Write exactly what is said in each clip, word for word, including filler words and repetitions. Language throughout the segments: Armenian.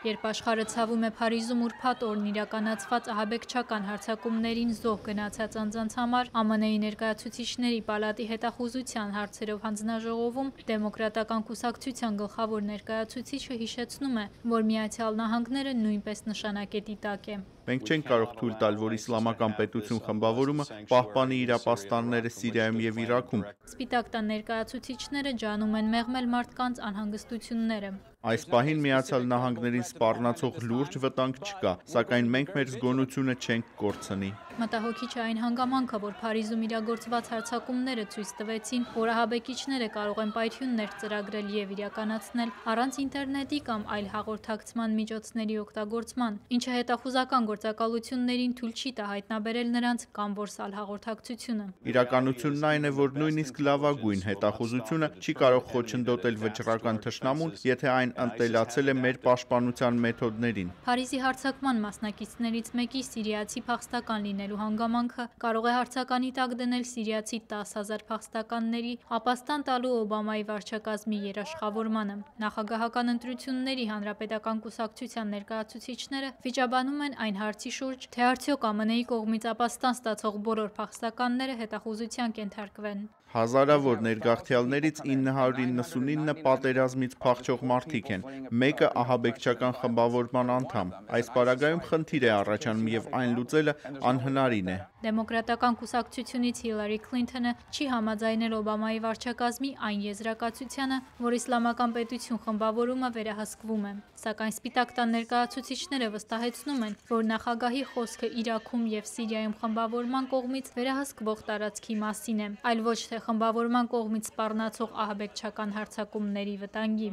Երբ աշխարհը ցավում է Փարիզում ուրբաթ օրն իրականացված ահաբեկչական հարձակումներին զոհ գնացած անձանց համար, Ամն Ի Ներկայացուցիչների պալատի հետախուզության հարցերով հանձնաժողովում Դեմոկրատական կուսակցության գլխավոր ներկայացուցիչը հիշեցնում է, որ Միացյալ Նահանգները նույնպես նշանակետի տակ է։ Մենք չենք կարող թույլ տալ, որ իսլամական պետություն խմբավորումը պահպանի իր ապաստանները Սիրիայում և Իրաքում։ Սպիտակ տան ներկայացուցիչները ջանում են մեղմել մարդկանց անհանգստությունները։ Այս պահին Միացյալ Նահանգներին սպառնացող լուրջ վտանգ չկա, սակայն մենք մեր զգոնությունը չենք կորցնի։ Մտահոգիչ է այն հանգամանքը, որ Փարիզում իրագործված հարձակումները ցույց տվեցին, որ ահաբեկիչները կարող են պայթյուններ ծրագրել և իրականացնել առանց ինտերնետի կամ այլ հաղորդակցման միջոցների օգտագործման, ինչը հետախուզական գործակալություններին թույլ չի տա հայտնաբերել նրանց կամ որսալ հաղորդակցությունը։ Իրականությունն այն է, որ նույնիսկ լավագույն հետախուզությունը չի կարող խոչընդոտել վճռական թշնամուն, եթե այն ընտելացել է մեր պաշտպանության մեթոդներին։ Փարիզի հարձակման մասնակիցներից մեկի սիրիացի փախստական լինելու հանգամանքը կարող է հարցականի տակ դնել սիրիացի տասը հազար փախստականների ապաստան տալու Օբամայի վարչակազմի երաշխավորմանը։ Նախագահական ընտրությունների հանրապետական կուսակցության ներկայացուցիչները վիճաբանում են այն հարցի շուրջ, թե արդյոք ԱՄՆ-ի կողմից ապաստան ստացող բոլոր փախստականները հետախուզության կենթարկվեն։ Հազարավոր ներգաղթյալներից ինը հարյուր իննսունինը պատերազմից փախչող մարդիկ են, մեկը ահաբեկչական խմբավորման անդամ։ Այս պարագայում խնդիր է առաջանում և այն լուծելը անհնարին է։ Դեմոկրատական կուսակցությունից Հիլարի Քլինթոնը չի համաձայնել Օբամայի վարչակազմի այն եզրակացությանը, որ իսլամական պետություն խմբավորումը վերահսկվում է։ Սակայն Սպիտակ տան ներկայացուցիչները վստահեցնում են, որ նախագահի խոսքը Իրաքում և Սիրիայում խմբավորման կողմից վերահսկվող տարածքի մասին է, այլ ոչ թե խմբավորման կողմից սպառնացող ահաբեկչական հարձակումների վտանգի։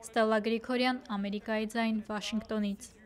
Ստելլա Գրիգորյան, Ամերիկայի ձայն, Վաշինգտոնից։